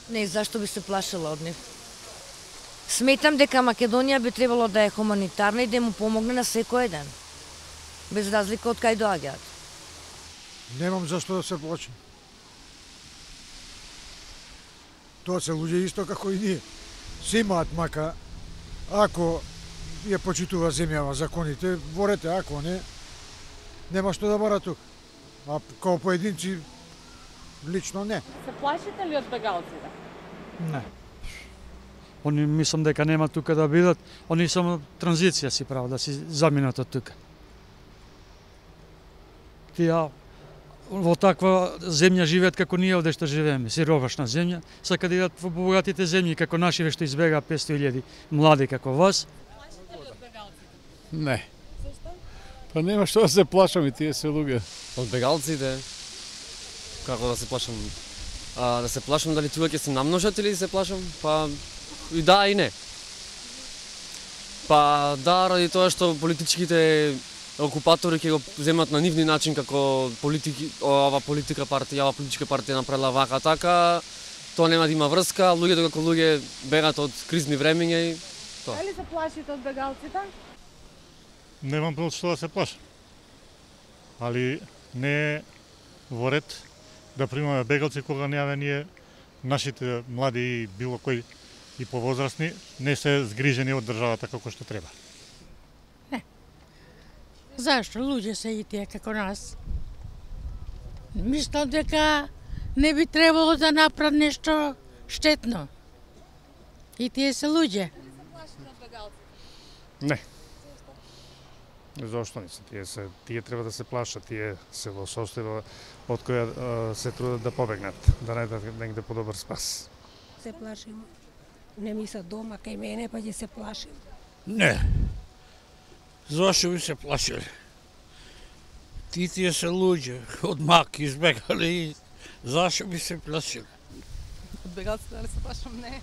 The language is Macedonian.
Не, зашто би се плашила од нив? Сметам дека Македонија би требало да е хуманитарна и да му помогне на секој еден. Без разлика од кај доаѓаат. Немам зашто да се плачам. Тоа се луѓе исто како и ние. Се имаат мака, ако ја почитува земјава законите, ворете, ако не, нема што да бара тук. А као поединци, лично не. Се плашите ли од бегалците? Не. Они мислам дека нема тука да бидат, они само транзиција си прават, да си заминат од тука. Тие во таква земја живеат како ние овде што живееме, сировашна земја, сака да идат во богатите земји како нашиве што избегаа 500.000 млади како вас. Плашите ли од бегалците? Не. Зашто? Па нема што да се плашам и тие се луѓе. Од бегалците, како да се плашам? Да се плашам дали тука ќе се намножат или се плашам? Па и да и не. Па да, ради тоа што политичките окупатори ќе го земат на нивни начин како ова политичка партија направила вака така, тоа нема да има врска, луѓето како луѓе бегат од кризни времиња и тоа. Дали се плашите од бегалците? Немам од што да се плашам. Али не е во ред да примаме бегалци кога неаве ние нашите млади и било кој и повозрастни не се згрижени од државата како што треба. Зашто? Луѓе се и тие како нас. Мислам дека не би требало да направат нешто штетно. И тие се луѓе. Дали се плашите од бегалците? Не. Зошто не се? Тие треба да се плашат, тие се во состојба од која се трудат да побегнат, да најдат негде подобар спас. Се плашим. Не ми се дома кај мене, па ќе се плашим. Не. Зошто би се плашиле? Тие се луѓе, од мак избегали, зашто би се плашиле? Од бегалците дали се плашам? Не.